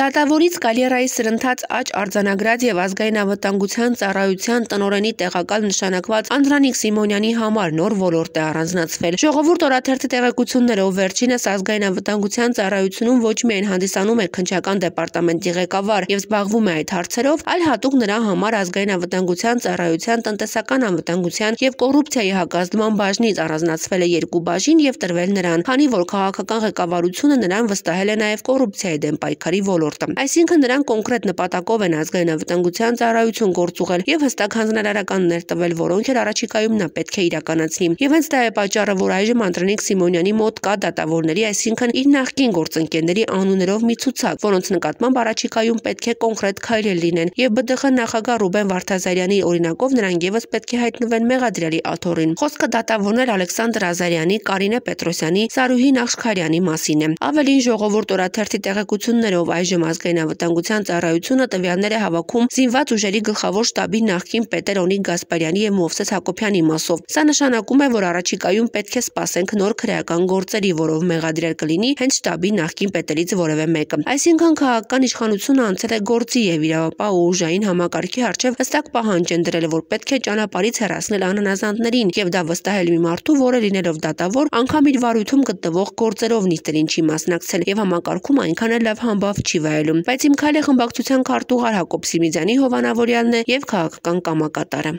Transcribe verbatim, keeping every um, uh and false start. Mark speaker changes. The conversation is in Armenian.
Speaker 1: Դատավորից Կալիերայի սրընթաց աճ արձանագրած եւ ազգային անվտանգության ծառայության տնօրենի տեղակալ նշանակված Անդրանիկ Սիմոնյանի համար նոր ոլորտ է առանձնացվել։ Ժողովուրդ օրաթերթի տեղեկություններով վերջինս ազգային անվտանգության ծառայությունում ոչ միայն հանդիսանում է քննչական դեպարտամենտի ղեկավար եւ զբաղվում է այդ հարցերով, այլ հատուկ նրա համար ազգային անվտանգության ծառայության տնտեսական անվտանգության եւ կոռուպցիայի հակազդման բաժնից առանձնացվել է երկու բաժին եւ տրվել նրան, քանի որ քաղաքական ղեկավարությունը նրան վստահել է նաեւ կոռուպցիայի դեմ պայքարի ոլորտը։ Այսինքն նրան կոնկրետ նպատակով են ազգային անվտանգության ծառայություն գործուղել եւ հստակ հանձնարարականներ տվել, որոնք էլ առաջիկայում նա պետք է իրականացնի։ Եվ հենց դա է պատճառը, որ այժմ Անդրանիկ Սիմոնյանի մոտ կա դատավորների, այսինքն իր նախկին գործընկերների անուններով մի ցուցակ, որոնց նկատմամբ առաջիկայում պետք է կոնկրետ քայլեր լինեն, եւ ԲԴԽ նախագահ Ռուբեն Վարդազարյանի օրինակով նրանք եւս պետք է հայտնվեն մեղադրյալի աթոռին։ Խոսքը դատավորներ Ալեքսանդր Ազարյանի, Կարինե Պետրոսյանի, Սարուհի Նախշքարյանի մասին է։ Ավելին, Ժողովուրդ օրաթերթի տեղեկություններով այժմ ազգային անվտանգության ծառայությունը տվյալներ է հավաքում զինված ուժերի գլխավոր շտաբի նախկին պետեր Օնիկ Գասպարյանի եւ Մովսես Հակոբյանի մասով։ Սա նշանակում է, որ առաջիկայում պետք է սպասենք նոր քրեական գործերի, որով մեղադրյալ կլինի հենց շտաբի նախկին պետերից որևէ մեկը։ Այսինքն քաղաքական իշխանությունը անցել է գործի եւ իրավապահ ու ուժային համակարգի առջեւ հստակ պահանջ են դրել, որ պետք է ճանապարհից հեռացնել անհնազանդներին եւ դա վստահել մի մարդու, որը լինելով դատավոր, անգամ իր վարույթում գտնվող գործերով նիստերին չի մասնակցել եւ համակարգում այնքան էլ լավ համբավ չի վայելում։ Բայց իմ քայլը խմբակցության քարտուղար Հակոբ Սիմիձյանի հովանավորյալն է եւ քաղաքական կամակատարը։